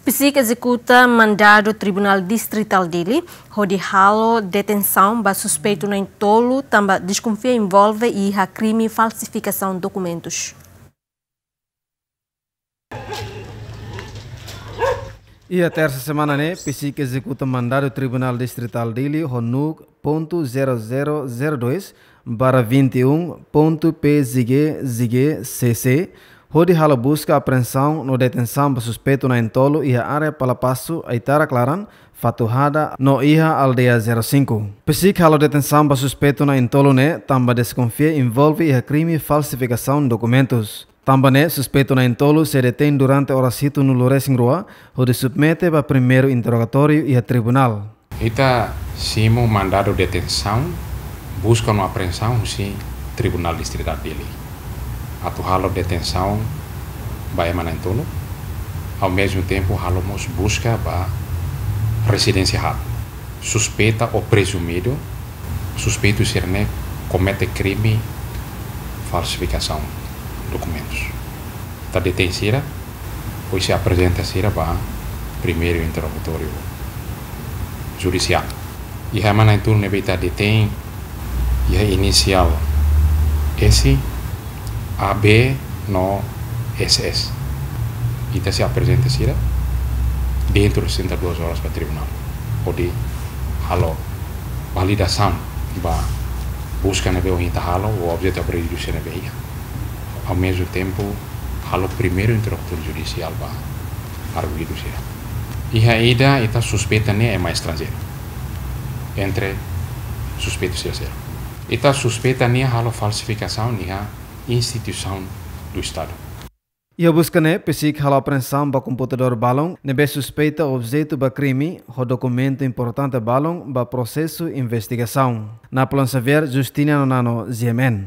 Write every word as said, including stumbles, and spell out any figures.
PCIC ezekuta mandadu Tribunál Distritál Dili hodi halo detensaun ba suspeitu na'in-tolu tanba deskonfia envolve iha krime falsifikasaun dokumentus. Iha tersa semana ne'e, PCIC ezekuta mandadu Tribunál Distritál Dili ho NUC ponto zero zero zero dois barra vinte e um ponto P Z G Z G C C, hodi halo buska, apreensaun no detensaun ba suspeitu na'in-tolu iha área Palapasu, Aitara Klaran, Fatuhada no iha aldeia zero cinco. PCIC halo detensaun ba suspeitu na'in-tolu ne'e tanba deskonfia envolve iha krime falsifikasaun dokumentus. Tanba ne'e, suspeitu na'in-tolu sei detein durante oras hitunulu-resin-rua, hodi submete ba primeiru interrogatóriu iha tribunál. Ita simu mandadu detensaun, buska no apreensaun husi Tribunál Distritál Dili, atu halo detensaun ba ema na'in-tolu, ao mesmo tempo halo mós buska ba rezidénsia haat. Suspeita ou prezumidu, suspeitu sira-ne'e komete krime falsifikasaun dokumentus. Ita detein sira, depois sei aprezenta sira ba primeiru interrogatóriu judisiál. Iha ema na'in-tolu ne'ebé ita detein iha inisiál S, A B no S S. Ita sei aprezenta sira dentro de sessenta e duas horas ba tribunál, hodi halo validasaun ba buska ne'ebé ohin ita halo, ou objetu apreendidu sira ne'ebé iha. Ao mesmo tempo, halo primeiru interrogatóriu judisiál ba arguidu sira. Iha ida ita suspeita ne'e ema estranjeiru, entre suspeitu sira seluk. Ita suspeita nia halo falsifikasaun iha instituisaun do Estadu. Iha buska ne'e, PCIC halo apreensaun ba komputadór balun ne'ebé suspeita objetu ba krime, ho dokumentu importante balun ba prosesu investigasaun. Napoleon Xavier, Justiniano Nano, G M N.